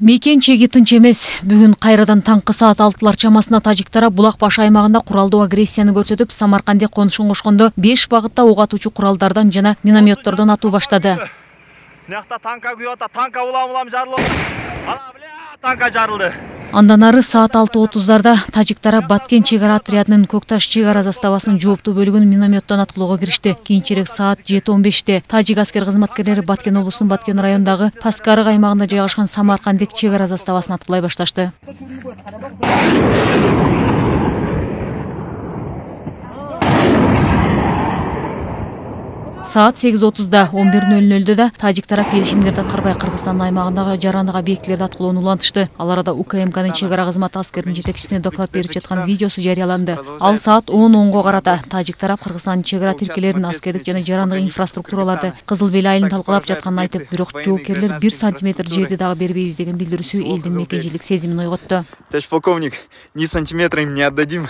Мекен чеги тынч эмес. Бүгүн кайрадан таңкы саат 6-лар чамасына тажик тарап Булак баш аймагында куралдуу агрессияны көрсөтүп, Самаркандде конушун кошкондо 5 багытта ок атуучу куралдардан жана минометтордон атуу баштады. Мынакта танка күйүп атат, танка улам жарылып. Ана бля, танка жарылды. Андан ары саат 6:30-дарда тажик тарап Баткен чек ара отрядынын Көкташ чек ара заставасынын жооптуу бөлүгүн минометтон аткылоого киришти. Кийинчерээк саат 7:15-те тажик аскер кызматкерлери Баткен облусунун Баткен районундагы Паскарык аймагында жайгашкан Самарканддик чек ара заставасын аткылай башташты. Саат 8:30-да 11:00-дө да тажик тарап келишимдерди аткарбай Кыргызстан аймагындагы жарандык объектилерди аткылоону улантышты. Ал арада УКМКнын чек ара кызматы аскердин жетекчисине доклад берип жаткан видеосу жарыяланды. Ал саат 10:10 карата тажик тарап Кыргызстандын чек ара тиркелерин, аскердик жана жарандык инфраструктураларды Кызыл Бел айылын талкалап жатканын айтып, бирок жоокерлер 1 сантиметр жерди дагы бербейбиз деген билдирүүсү элдин мекенчилик сезимин ойготту. Товарищ полковник, ни сантиметра им не отдадим.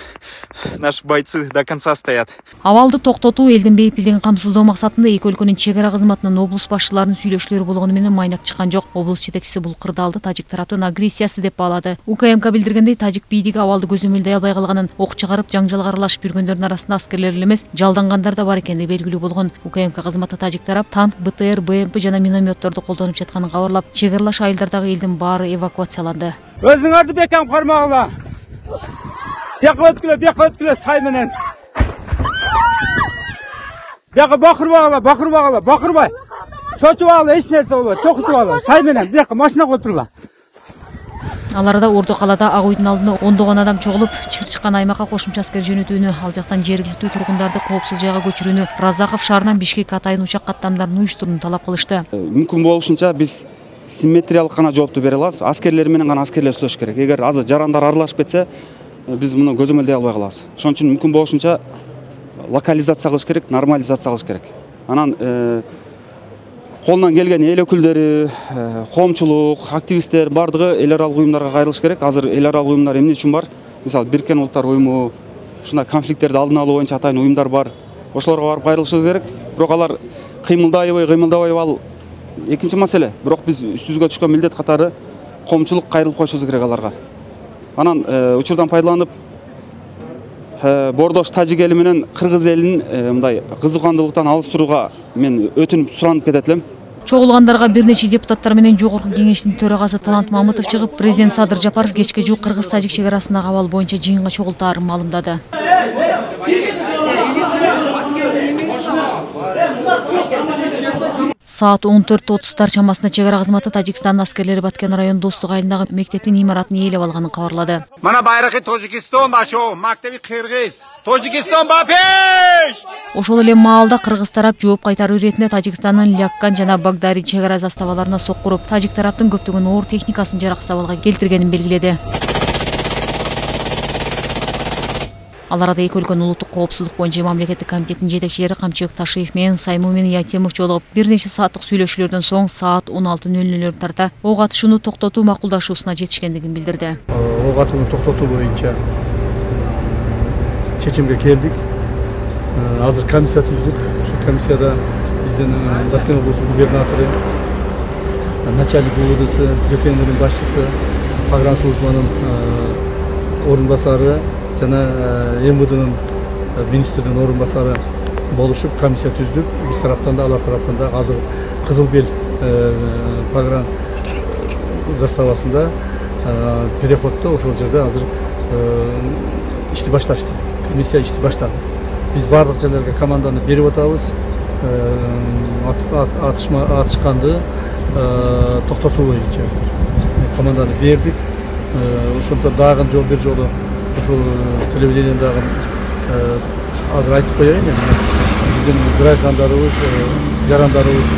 Наши бойцы до конца стоят. Абалды токтотуу элдин бейпилдигин камсыздоо максатында эки өлкөнүн чек ара кызматынын облус башчыларынын сүйлөшүүлөрү болгону менен майнак чыккан жок. Облус жетекчиси бул кырдаалды тажик тараптын агрессиясы деп баалады. УКМК билдиргендей, тажик бийдиги абалды көзөмөлдөй албай калганын, ок чыгарып жаңжалга аралашып жүргөндөрдүн арасында аскерлер эле эмес, жалдангандар да бар экендиги белгилүү болгон. УКМК кызматы тажик тарап танк, БТР, БМП жана минометторду колдонуп жатканын кабарлап, чек аралаш айылдардагы элдин баары эвакуацияланды. Өзүңөрдү бекем кармагыла. Бияка өткүлө сай менен. Бияка бакырбагыла. Чочуп алгыла, эч нерсе болбойт. Чокучуп алгыла, сай менен бияка машина коюп тургула. Ал арада Ордо калаада Ак үйдүн алдында ондогон адам чогулуп, чыккан аймакка кошумча аскер жөнөтүүнү, ал жактан жергиликтүү тургундарды коопсуз жайга көчүрүүнү, Разаков шаарынан Бишкек атайын учак каттамдарын уюштурууну талап кылышты. Мүмкүн болушунча биз симметриялык гана жоопту бере алабыз. Аскерлер менен гана аскерлер сүйлөш керек. Эгер азыр жарандар аралашып кетсе, биз муну көзөмөлдөй албай калабыз. Ошон үчүн мүмкүн болушунча локализация кылыш керек, нормализация кылыш керек. Анан колунан келген эл өкүлдөрү, коомчулук, активисттер бардыгы эл аралык уюмдарга кайрылыш керек. Азыр эл аралык уюмдар эмне үчүн бар? Мисалы, Бириккен Улуттар уюму, ушундай конфликттерди алдын алуу боюнча атайын уюмдар бар. Ошолорго барып кайрылышы керек. Бирок алар кыймылдабайбы, ал экинчи маселе. Бирок биз үстүбүзгө түшкөн милдет катары коомчулук кайрылып коюшубуз керек аларга. Анан учурдан пайдаланып Бордош тажик эли менен кыргыз элин мындай кызыккандуулуктан алыс турууга мен өтүнүп суранып кетет элем. Чогулгандарга бир нече депутаттар менен жогорку кеңештин төрагасы Талант Мамытов чыгып, президент Садыр Жапаров кечке жуук кыргыз-тажик чек арасындагы абал боюнча жыйынга чогултаарын маалымдады. Саат 14:30 чамасында чек ара кызматы Тажикстандын аскерлери Баткен району Достук айылындагы мектептин имаратын ээлеп алганын кабарлады. Мана байракы Тажикстан башо, мактеби Кыргыз. Тажикстан бапеш! Ошол эле маалда кыргыз тарап жооп кайтаруу иретинде Тажикстандын Ляккан жана Багдари чек ара заставаларына соккуруп, тажик тараптын көптөгөн оор техникасын жараксыз абалга келтиргенин белгиледи. Ал арада эки өлкөнүн улуттук коопсуздук боюнча мамлекеттик комитеттин жетекчилери Камчыбек Ташиев менен Сайму Ятемов жолугуп, бир нече сааттык сүйлөшүүлөрдөн соң саат 16:00 тарта ок атышууну токтотуу макулдашуусуна жетишкендигин билдирди. Ок атууну токтотуу боюнча чечимге келдик. Азыр комиссия түздүк. Ошол комиссияда биздин Баткен облусу губернатору, начальник УВДсы, ДКНРдин башчысы, погранслужбанын орун басары жана МВДнын министрдин орун басары болушуп комиссия түздүк. Биз тараптан да, алар тараптан да азыр Кызыл Бел погран заставасында переходдо ошол жерде азыр ишти башташты. Комиссия ишти баштады. Биз бардык жерлерге команданы берип атабыз. Атышканды токтотуу боюнча команданы бердик. Ошондо дагы бир жолу ушул телевидениедагы азыр айтып коеюн, биздин граждандарыбыз, жарандарыбыз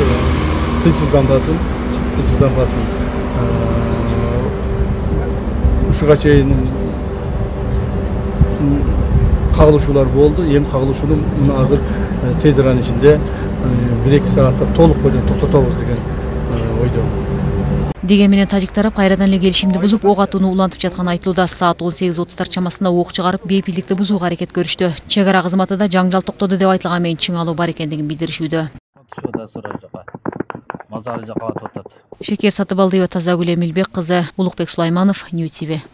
тынчсызданбасын. Ушуга чейин кагылышуулар болду. Эми кагылышууну азыр тез аралык ичинде 1-2 саатта толук бойдон токтотобуз деген ойдо. Деген менен тажик тарап кайрадан эле келишимди бузуп, ок атууну улантып жатканы айтылууда. Саат 18:30 чамасында ок чыгарып, бейпилдикти бузууга аракет көрүштү. Чек ара кызматында жаңжал токтоду деп айтылган менен чыңалуу бар экендигин билдиришүүдө. мазары жакалатып атат. Шекер Сатыбалдиева, Тазагүл Эмилбек кызы, Улукбек Сулайманов, Нью ТВ.